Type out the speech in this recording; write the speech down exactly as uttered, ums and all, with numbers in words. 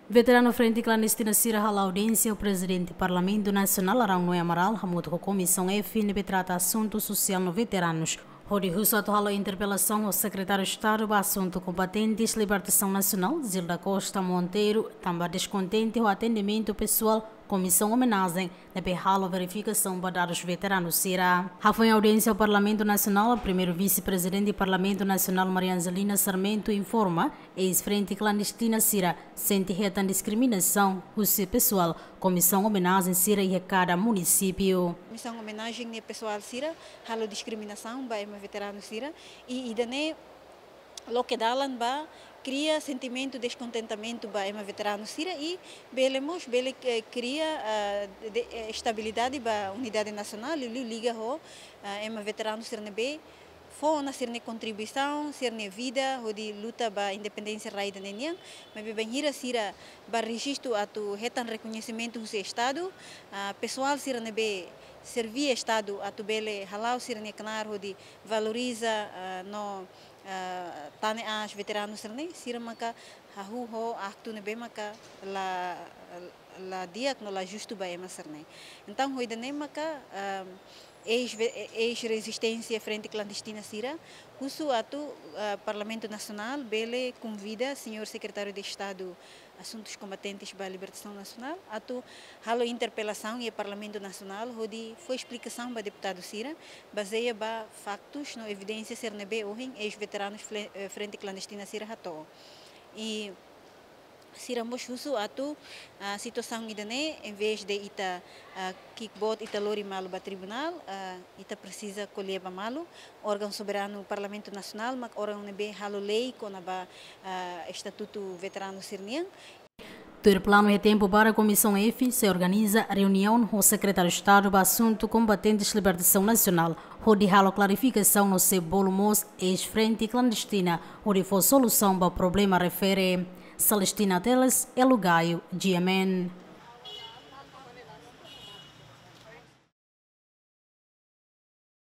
Veteranu Frente Klandestina sira hala'o audiénsia ho Prezidente Parlamentu Nasionál Araun Noé Amaral hamutuk ho Komisaun F ne'ebé trata asuntu sosiál no veteranus, hodi husu atu halo interpelasaun ho Sekretáriu Estadu ba Asuntu Kombatentes Libertasaun Nasionál, Zilda Costa Monteiro, tanba deskontente ho atendimentu pesoál Komisaun Omenajen ne'ebé halo verifikasaun ba dadus veteranu sira. Hafoin audiénsia Parlamentu Nasionál, Primeiru Vise-Prezidente Parlamentu Nasionál Maria Angelina Sarmento informa, eis-Frente Klandestina sira sente hetan diskriminasaun husi pesoál Komisaun Omenajen sira iha kada munisípiu. Komisaun Omenajen nia pesoál sira halo diskriminasaun ba ema veteranu sira, i ida-ne'e loke dalan ba kria sentimentu deskontentamentu ba ema veteranu sira i bele mós bele, eh, kria, ah, de, eh, estabilidade ba unidade nasionál, liuliu liga ho, ah, ema veteranu sira ne'ebé fó ona sira-nia kontribuisaun, sira-nia vida hodi luta ba independénsia rai ida-ne'e nian, maibé bainhira sira bá rejistu atu hetan rekoñesimentu husi Estadu, ah, pesoál sira ne'ebé serví Estadu atu bele hala'o sira-nia knaar hodi valoriza, ah, no, ah, tane aas veteranu sira-ne'e, sira maka hahú ho aktu ne'ebé maka la, la di'ak no la justu ba ema sira-ne'e. Entaun, ho ida-ne'e maka, ah, eis ve-, eis-rezisténsia Frente Klandestina sira husu atu, ah, Parlamentu Nasionál bele konvida Señór Sekretáriu de Estadu Asuntus Kombatentes ba Libertasaun Nasionál atu halo interpelasaun iha Parlamentu Nasionál hodi fó esplikasaun ba deputadu sira, bazeia ba faktus no evidénsia sira ne'ebé ohin eis-veteranus fle-, eh, Frente Klandestina sira hato'o. I sira mós husu atu, ah, situasaun ida-ne'e, envezde ita, ah, ki'ik boot, ita lori malu ba tribunál, ah, ita presiza ko'alia ba malu. Órgaun soberanu Parlamentu Nasionál mak órgaun ne'ebé halo lei kona-ba, ah, estatutu veteranu sira-nian. Tuir planu, iha tempu badak Komisaun F sei organiza reuniaun ho Sekretáriu Estadu ba Asuntu Kombatentes Libertasaun Nasionál, hodi halo klarifikasaun no sei bolu mós eis-Frente Klandestina hodi fó solusaun ba problema refere. Celestina Teles, Elo Gaio, G M N.